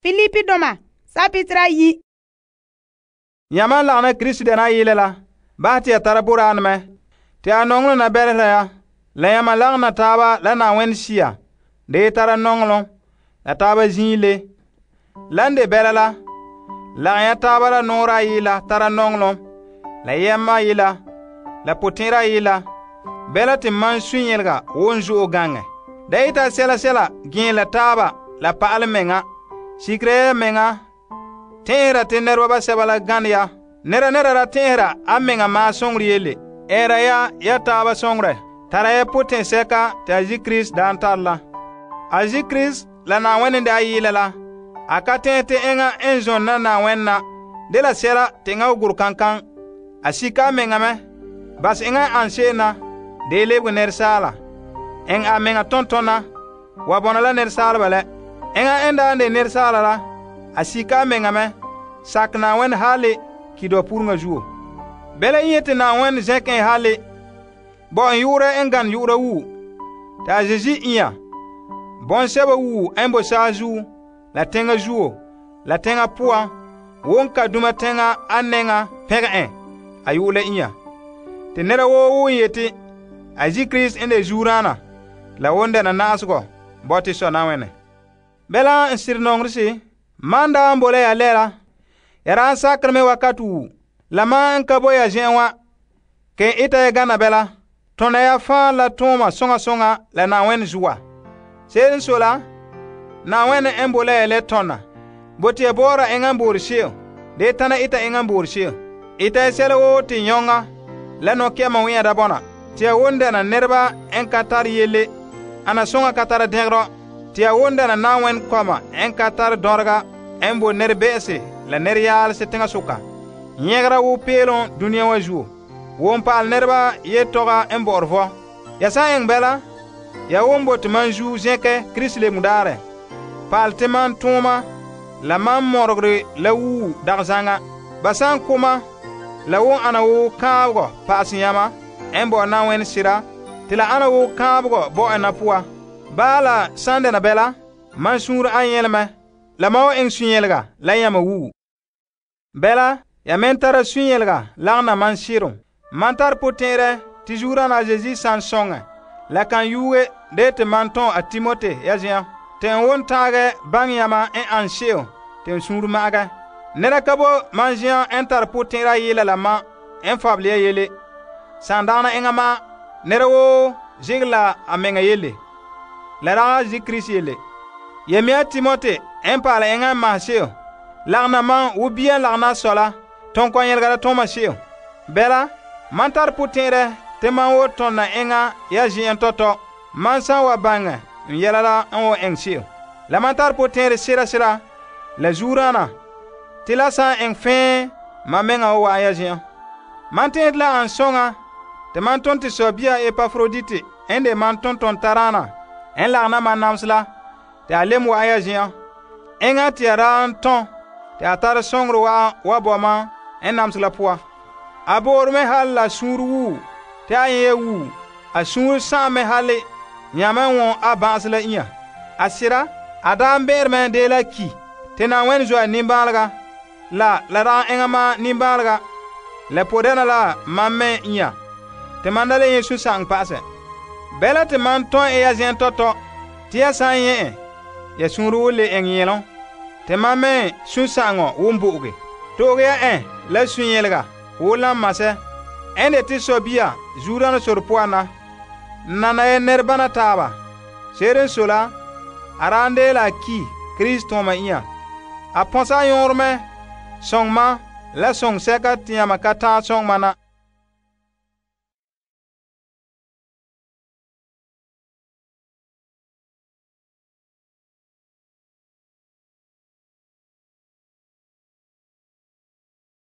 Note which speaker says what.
Speaker 1: Filipi doma sapitra yi.
Speaker 2: Yamma lagna Krista dena yele la, bahɛ te ya tara boraanɛ mɛ, te a nɔŋɔlom na bɛlesera ya. La yamma lagna taaba la Na'ayenɛ Sea, de tara nɔŋɔlom, la taaba zin'ile. Lan de bɛla la, lagom ya taaba la nɔɔrɛ ayi la tara nɔŋɔlom, la yɛma ayi la potɛn'ɛra ayi la, bɛla te man sunyelega won zo'e gaŋɛ. Da ita sɛla gee la taaba la pa'alɛ mɛŋa, sikera ya mɛŋa, tɛn'ɛhera te nɛreba basɛba la gane ya. Nɛra ra tɛn'ɛhera a mɛŋa maa soŋorɛ yele. Ɛɛra ya taaba soŋorɛ. Tara ya potɛnsɛka te a zi Krista daan tare la. A zi Krista la Na'ayenɛ daa yele la, a ka tɛn'ɛhe te enŋa n zone na Na'ayenɛ na dela sɛla te enŋa gurɛ kankan. A sika a mɛŋa mɛ, bas enŋa n ane se'em na, de lebege nɛresaala. Eŋɛ a mɛŋa tontona, wa bɔna la nɛresaaleba lɛ. Enŋa n daa de nɛresaala la, a sika a mɛŋa mɛ, sakɛ Na'ayenɛ hali kidɔpuruŋa zuo. Bɛla n yete Na'ayenɛ zɛnkɛ en hali, bo en yu'urɛ n gane yu'ura wuo, te a Zeezi inya, bɔŋsɛba wuo n bo saazuo, la teŋa zuo, la teŋa poan, won ka duma teŋa a nɛŋa pɛngɛ en a yu'urɛ la inya. Te nɛra woo woo yete a zi Krista n de zuoraana, la won dɛna na'asegɔ bɔte sɔ Na'ayenɛ. Bɛla n sire nɔŋerɛ se, man daa n bo la ya lɛra, ya daa n sakerɛ mɛ wakati wuo. La man n ka bo ya zen'en wa, ke ita ya gana bɛla, tona ya faa la tooma soŋa soŋa la Na'ayenɛ zuwa. Se'ere n sɔe la, Na'ayenɛ n bo la ya le tona, bote ya bɔ'ɔra enŋa n boore se'em, de tana ita enŋa n boore se'em. Ita ya sɛla woo te yɔŋa la nɔkɛ'ɛma wɛ'ɛn da bɔna, te ya won dɛna nɛreba n ka tare yele, ana soŋa ka tara dɛngerɔ, te ya won dɛna Na'ayenɛ kɔma n ka tare dɔrega n bo nɛrebe'ese la nɛreyaalese teŋasoka, nyɛgera wo peelom duniya wa zuo, won pa'al nɛreba yetɔga n bɔ'ɔre vɔ. Ya san eŋɛ bɛla, ya won bo te man zuo zɛnkɛ Krista lemu daarɛ, pa'al te man tooma la man mɔregere la wuo dagzaŋa. Ba san koma, la won ana wo kaabegɔ pa'asɛ yama n bo Na'ayenɛ sera, te la ana wo kaabegɔ bo en na poa. Bala san dɛna bɛla, man suunre an yɛlmɛ, la ma wa eŋɛ sunyɛlega la yama wuo. Bɛla, ya men tara sunyɛlega lagna man sɩrem. Man tar potɛn'ɛrɛ te zuoraana a Zeezi san soŋɛ, la kan yuuge de te man tɔn a Timote ya zen'an, te n won taagɛ baŋɛ yama n ane se'em te n suunre ma'agɛ. Nɛra ka bo man zen'an n tar potɛn'ɛrɛ a yela la ma n fabele ya yele. San dagana enŋa ma, nɛra woo zegere la a mɛŋa yele, la dagɛ zi Krista yele. Ya mea Timote n paala enŋa n mahɛ se'em, lagna man wo bia n lagna a sɔ la, tõn kɔn yɛlga la tõma se'em. Bɛla, man tar potɛn'ɛrɛ te man wo tɔnna enŋa ya zen'en tɔtɔ, man san wa baŋɛ n yɛla la n wo eŋɛ se'em. La man tar potɛn'ɛrɛ sera la zuoraana, te la san eŋɛ fɛɛ man mɛŋa wo wa'an ya zen'en. Man tẽed la an soŋa te man tõn te sɔbia Epafrodite n de man tõntɔn taraana n lagna man namse la, te a lem wa'an ya zen'en. Enŋa te ya daa n tɔn te a tare sõngere wa'an wa bɔ man n namse la poa. A boore me hal la suunre wuo, te a yẽ ya wuo, a suunre sa'am me hali yãmɛ n wõn a bã'ase la inya. A sɩda, a daa n bẽere me dee la ki, te Na'ayenɛ zoa nimbãalega, la dagɛ enŋa ma nimbãalega, la podɛna la man me inya, te man da le yẽ sũ-sa'ŋ pa'asɛ. Bɛla te man tõe e ya zen'en tɔtɔ, te ya san yẽ en, ya suunre woo le eŋɛ yẽlem, te man me sũ-sa'ŋɔ won bo'oge. To'oge ya en la sũ-yẽlega woo lan masɛ, n de te sɔbia zuoraana sore poan na, nana ya nɛrebana taaba. Se'ere n sɔe la, a daa n dee la a ki Krista tõoma inya. A pɔnsa a yõorɛ mɛ sõŋ ma la sõŋ sɛka te yãmba ka ta'an sõŋ ma na.